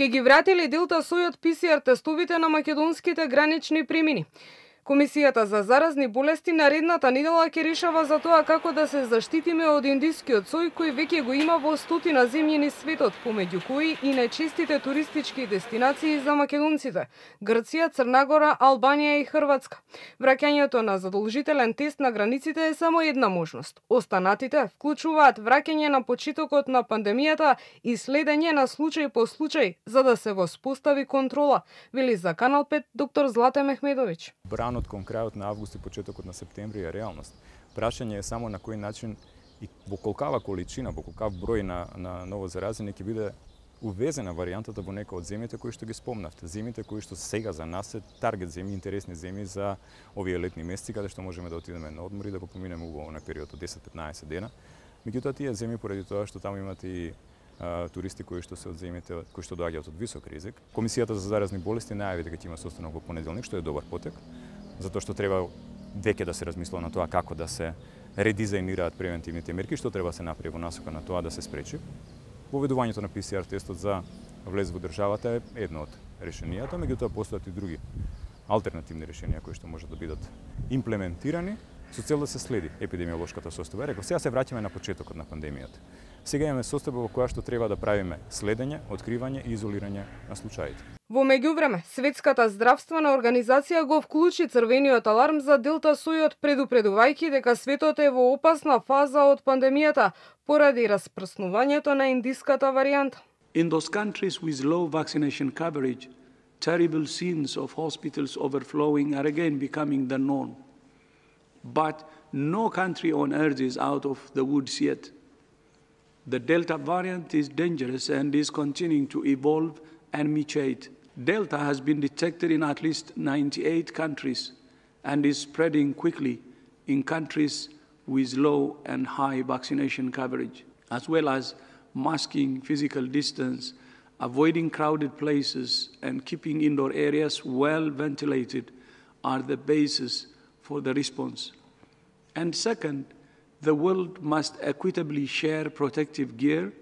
Ке ги вратили Делта сојот ПСР тестовите на македонските гранични премини. Комисијата за заразни болести наредната недела ќе решава за тоа како да се заштитиме од индискиот сој кој веќе го има во стотина земји низ светот, помеѓу кои и најчестите туристички дестинации за македонците – Грција, Црна Гора, Албанија и Хрватска. Враќањето на задолжителен тест на границите е само една можност. Останатите вклучуваат враќање на почетокот на пандемијата и следење на случај по случај за да се воспостави контрола, вели за Канал 5 доктор Злате Мехмедовиќ. Кон крајот на август и почетокот на септември е реалност. Прашање е само на кој начин и во колкава количина, во колкав број на ново заразени ќе биде увезена варијантата во некои од земјите кои што ги спомнавте. Земјите кои што сега за нас се таргет земји, интересни земји за овие летни месеци каде што можеме да отидеме на одмор и да го поминеме убаво на период од 10-15 дена. Меѓутоа тие земји поради тоа што таму имате и туристи кои што се од земјите кои што доаѓаат од висок ризик. Комисијата за заразни болести најави дека ќе има состанок во понеделник, што е добар потек, затоа што треба веќе да се размислува на тоа како да се редизајнираат превентивните мерки, што треба да се направи во насока на тоа да се спречи. Воведувањето на ПСР тестот за влез во државата е едно од решенијата, меѓутоа постојат и други алтернативни решенија кои што можат да бидат имплементирани со цел да се следи епидемиолошката состојба. Реков, сега се враќаме на почетокот на пандемијата. Сега имаме состојба во која што треба да правиме следење, откривање и изолирање на случаите. Во меѓувреме, Светската здравствена организација го вклучи црвениот аларм за Делта сојот, предупредувајќи дека светот е во опасна фаза од пандемијата поради распрснувањето на индиската варијанта. In those countries with low vaccination coverage, terrible scenes of hospitals overflowing are again becoming the norm. But no country on earth is out of the woods yet. The Delta variant is dangerous and is continuing to evolve and mutate. Delta has been detected in at least 98 countries and is spreading quickly in countries with low and high vaccination coverage, as well as masking physical distance, avoiding crowded places, and keeping indoor areas well ventilated are the basis for the response. And second, the world must equitably share protective gear,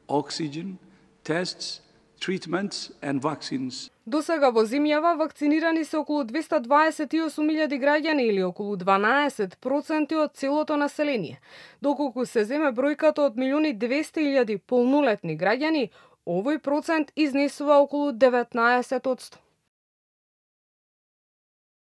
oxygen, tests, treatments and vaccines. До сега во земјава вакцинирани се околу 228.000 граѓани или околу 12% од целото население. Доколку се земе бројката од 1.200.000 полнолетни граѓани, овој процент изнесува околу 19%.